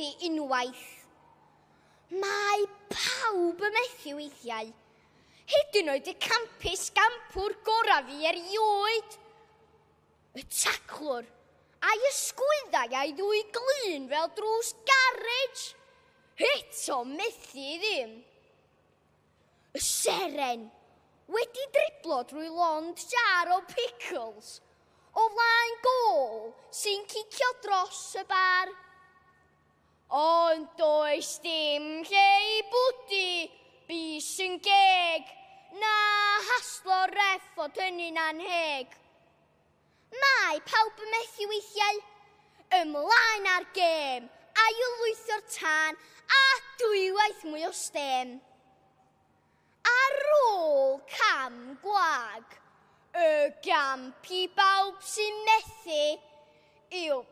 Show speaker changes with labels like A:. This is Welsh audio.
A: methu unwaith. Mae pawb yn methu weithiau. Hyd yn oed y campus gampwr gorau fi erioed. Y taclwr a'i ysgwyddau a'i ddwy glun fel drws garej. Eto methu ddim. Y seren wedi driblo drwy lond jar o pickles o flaen gôl sy'n cicio dros y bar. Ond does dim lle i bwdu bys yn geg, na haslo ref fod hynny'n anheg. Mae pawb yn methu weithiau, ymlaen ar gêm, ail-lwytho'r tân a dwywaith mwy o stêm. Ar ôl cam gwag, y gamp i bawb sy'n methu yw